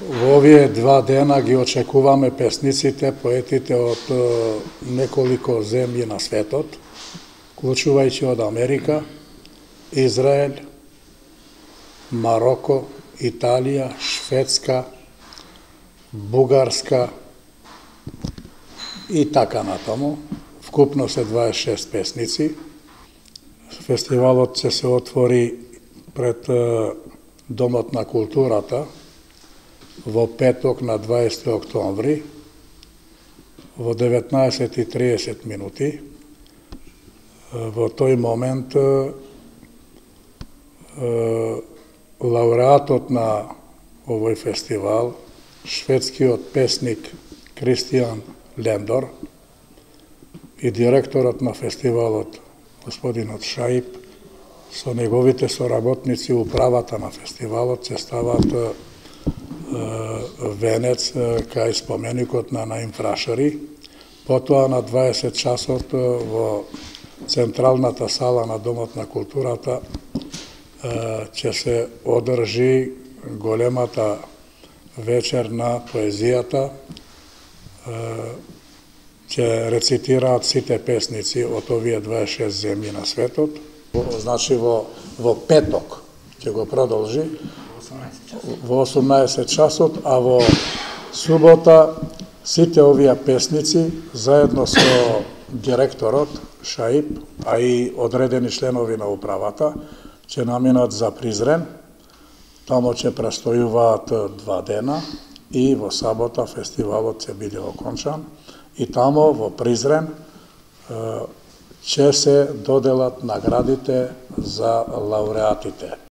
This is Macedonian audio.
Во овие 2 дена ги очекуваме песниците, поетите од неколико земји на светот, вклучувајќи од Америка, Израел, Мароко, Италија, Шведска, Бугарска и така натаму. Вкупно се 26 песници. Фестивалот ќе се отвори пред Домот на културата во петок на 20 октомври во 19:30 минути. Во тој момент лауреатот на овој фестивал, шведскиот песник Кристијан Лендор и директорот на фестивалот, господинот Шаип, со неговите соработници управата на фестивалот ќе стават венец кај споменикот на Наим Фрашари. Потоа на 20 часот во централната сала на Домот на културата ќе се одржи големата вечер на поезијата. Ќе рецитираат сите песници од овие 26 земји на светот. Значи во петок ќе го продолжи во 18 часот, а во субота сите овие песници заедно со директорот Шаип, а и одредени членови на управата ќе наминат за Призрен. Тамо ќе престојуваат 2 дена и во сабота фестивалот ќе биде окончан и тамо во Призрен ќе се доделат наградите за лауреатите.